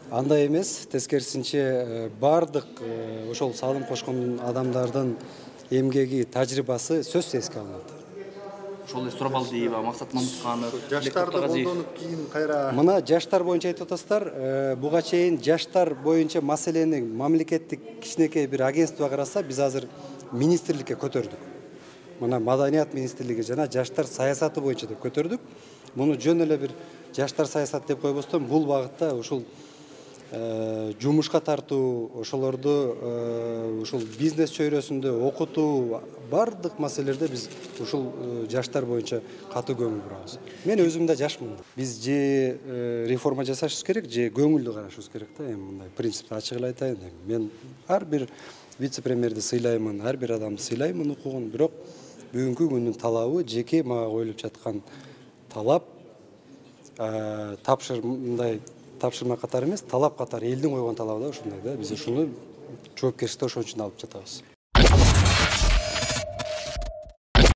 Андай эмес, тескерисинче бардык ошол салым кошкон адамдардын эмгеги, тажрыйбасы сөзсүз эске алынат. Ошол эле Сурабалдиева, Максат Мамытканов, Жаштарды колдонуп кийин кайра Мына жаштар боюнча айтып атасыздар. Буга чейин жаштар боюнча маселени мамлекеттик кичинекей бир агентство караса, биз азыр министрликке көтөрдүк. Мына Маданият министрлиги жана жаштар саясаты боюнча деп көтөрдүк. Муну жөн эле бир жаштар саясаты деп койбостон, бул багытта ушул жумушка тартуу, ошолорду ушул бизнес чөйрөсүндө окутуу, бардык маселелерде биз ушул жаштар боюнча катуу көңүл бурабыз. Мен өзүм да жашмын. Биз же реформа жасашыбыз керек, же көңүлдүү карашыбыз керек да. Эми мындай принципти ачык эле айтайын. Мен ар бир вице-премьерди сыйлаймын, ар бир адамды сыйлаймын укугун, бирок бүгүнкү күндүн талабы жеке мага коюлуп жаткан талап, мындай тапшырма катары эмес, талап катары элдин койгон талабы да ушундай да. Биз ушуну жоопкерчиликти ошон үчүн алып жатабыз.